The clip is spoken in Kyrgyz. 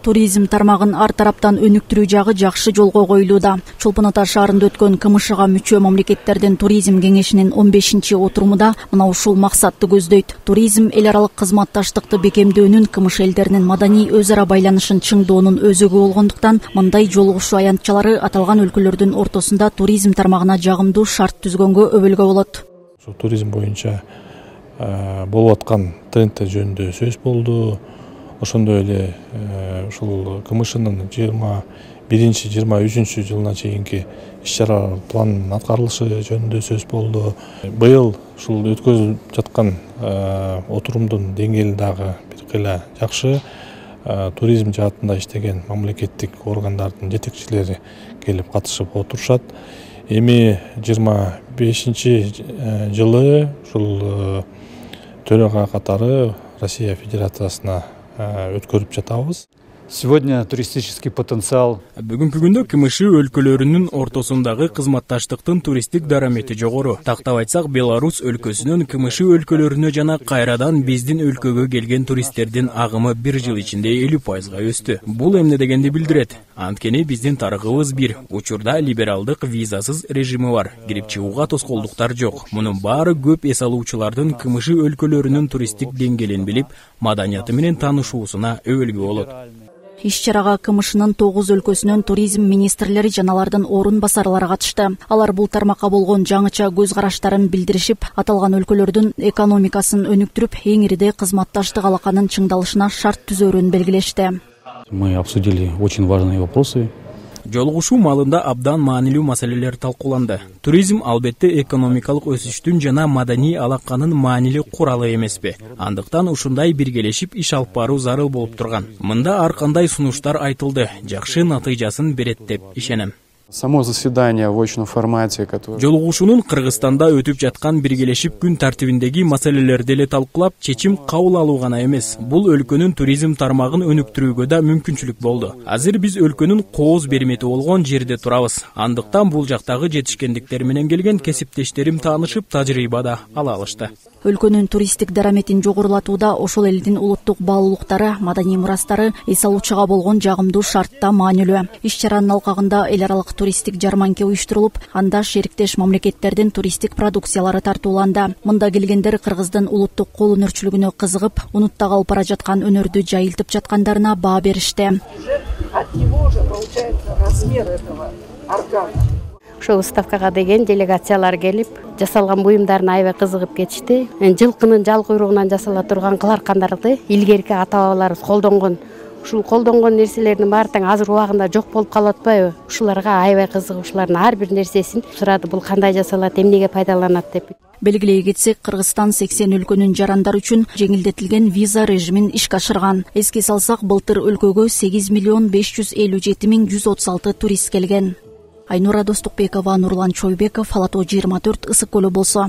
Туризм тармагын ар тараптан өнүктүрүү жагы жакшы жолго коюлууда. Чолпон Ата шаарында өткөн КМШга мүчө мамлекеттердин туризм кеңешинин 15-чи отурумунда мына ушул максатты көздөйт. Туризм эл аралык кызматташтыкты бекемдөөнүн, КМШ элдеринин маданий өз ара байланышын чыңдоонун өзөгү болгондуктан мындай жолугушуу аянтчалары аталган өлкөлөрдүн ортосунда туризм тармагына жагымдуу шарт түзгөнгө өбөлгө болот. Туризм боюнча болуп аткан трендтер жөнүндө сөз болду. Ошондой эле ушул КМШнын 21-23 жылына чейинки иш-чара планынын аткарылышы жөнүндө сөз болду. Быйыл ушул өткөрүлүп жаткан отурумдун деңгээли дагы бир кыйла жакшы. Туризм жаатында иштеген мамлекеттик органдардын жетекчилери келип катышып отурушат. Эми 25 жылы ушул төрага катары Россия Федерациясына өткөрүп жатабыз. Сегодня туристический потенциал. Бүгүнкү күндө КМШ өлкөлөрүнүн ортосундагы кызматташтыктын туристтик дарамети жогору. Тактап айтсак, Беларусь өлкөсүнөн КМШ өлкөлөрүнө жана кайрадан биздин өлкөгө келген туристтердин агымы бир жыл ичинде 50%га өстү. Бул эмне дегенди билдирет? Анткени биздин тарыгыбыз бир. Учурда либералдык визасыз режими бар. Кирип чыгууга тоскоолдуктар жок. Мунун баары көп эс алуучулардын КМШ өлкөлөрүнүн туристтик деңгээлин билип, маданияты менен таанышуусуна өбөлгө болот. Иш-чарага КМШнын 9 өлкөсүнөн туризм министрлери жана алардын орун басарлары катышты. Алар бул тармакка болгон жаңыча көз караштарын билдиришип, аталган өлкөлөрдүн экономикасын өнүктүрүп, эң ириде кызматташтык алаканын чыңдалышына шарт түзөөрүн белгилешти. Мы обсудили очень важные вопросы. Жолугушуу маалында абдан маанилүү маселелер талкууланды. Туризм албетте экономикалык өсүштүн жана маданий алаканын маанилүү куралы эмеспи. Андыктан ушундай биргелешип иш алып баруу зарыл болуп турган. Мында ар кандай сунуштар айтылды, жакшы натыйжасын берет деп ишенем. Само заседание в очном формате, которое... Жолугушуунун Кыргызстанда өтүп жаткан биргелешип күн тартибиндеги маселелерди эле талкуулап, чечим кабыл алуу гана эмес, бул өлкөнүн туризм тармагын өнүктүрүүгө да мүмкүнчүлүк болду. Азыр биз өлкөнүн кооз бермети болгон жерде турабыз. Андыктан бул жактагы жетишкендиктер менен келген кесиптештерим таанышып, тажрыйба да ала алышты. Өлкөнүн туристтик дараметин жогорулатууда ошол элдин улуттук баалуулуктары, маданий мурастары эс алуучуга болгон жагымдуу шартта маанилүү. Иш-чаранын алкагында эл аралык туристтик жарманке уюштурулуп, анда шериктеш мамлекеттердин туристтик продукциялары тартууланды. Мында келгендер Кыргыздын улуттук кол өнөрчүлүгүнө кызыгып, унутта калып бара жаткан өнөрдү жайылтып жаткандарына баа беришти. От него же получается размер этого органа. Ошол выставкага деген делегациялар келип, жасалган буюмдарына аябай кызыгып кетишти. Жылкынын жал куйругунан жасала турган кыл аркандарды илгерки ата-бабаларыбыз колдонгон. Ушул колдонгон нерселердин баары тең азыр убагында жок болуп калып атпайбы? Ушуларга аябай кызыгып, ушулардын ар бир нерсесин сурады, бул кандай жасалат, эмнеге пайдаланат деп. Белгилей кетсек, Кыргызстан 80 өлкөнүн жарандары үчүн жеңилдетилген виза режимин ишке ашырган. Эске салсак, былтыр өлкөгө 8.557.136 турист келген. Айнура Достукбекова, Нурлан Чойбеков, Ала Тоо 24, Ысык көлү болсо.